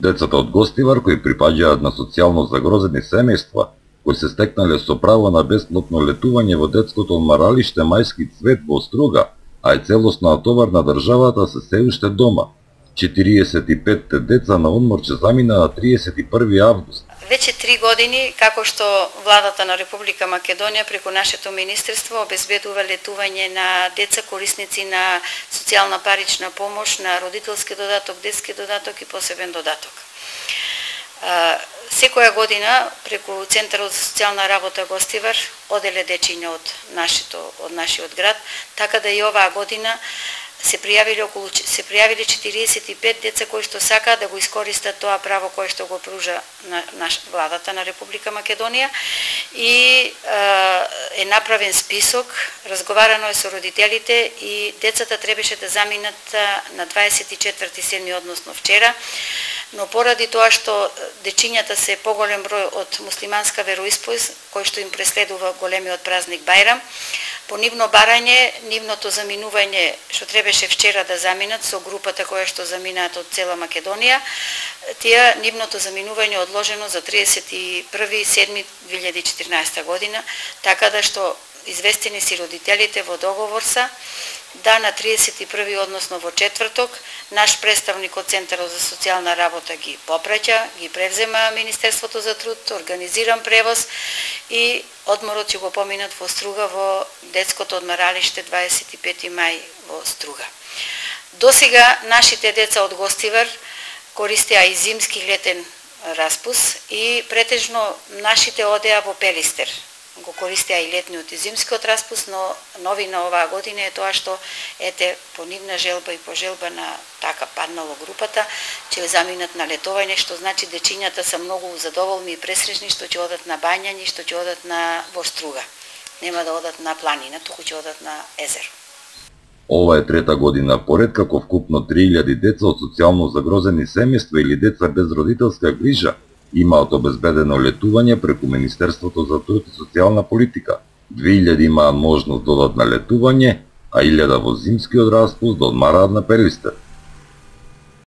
Децата од Гостивар кои припаѓаат на социјално загрозени семејства, кои се стекнале со право на бесплатно летување во детското одмаралиште Мајски цвет во Струга, а е целосно натовар на државата, се уште дома. 45 деца на одмор ќе замина на 31 август. Веќе 3 години како што владата на Република Македонија преку нашето министерство обезбедува летување на деца корисници на социјална парична помош, на родителски додаток, детски додаток и посебен додаток. Секоја година преку Центарот за социјална работа Гостивар оделе дечиња од нашиот град, така да и оваа година се пријавиле 45 деца кои што сакаат да го искористат тоа право кое што го пружа владата на Република Македонија и е направен список, разговарано е со родителите и децата требаше да заминат на 24/7, односно вчера, но поради тоа што дечињата се поголем број од муслиманска вероисповест, кој што им преследува големиот празник Бајрам, по нивно барање, нивното заминување што требаше вчера да заминат со групата која што заминаат од цела Македонија, нивното заминување е одложено за 31.7.2014 година, така да што известени си родителите во договор са да на 31, односно во четврток, наш представник од Центарот за социјална работа ги попраќа, ги превзема Министерството за труд, организиран превоз и одморот ќе го поминат во Струга во детското одмаралиште 25 мај во Струга. Досега нашите деца од Гостивар користеа и зимски летен распус и претежно нашите одеа во Пелистер. Го користеа и летниот и зимскиот распус, но новина оваа година е тоа што по нивна желба и по желба на така паднало групата, ќе заминат на летување, што значи дечињата се многу задоволни и пресречни што ќе одат на бањање, што ќе одат во Струга. Нема да одат на планина, туку ќе одат на езеро. Ова е трета година поред како вкупно 3000 деца од социјално загрозени семејства или деца без родителска грижа имаат обезбедено летување преку Министерството за труд и социјална политика. 2000 имаат можност да одат на летување, а 1000 во зимскиот распуст да одмараат на Пелистер.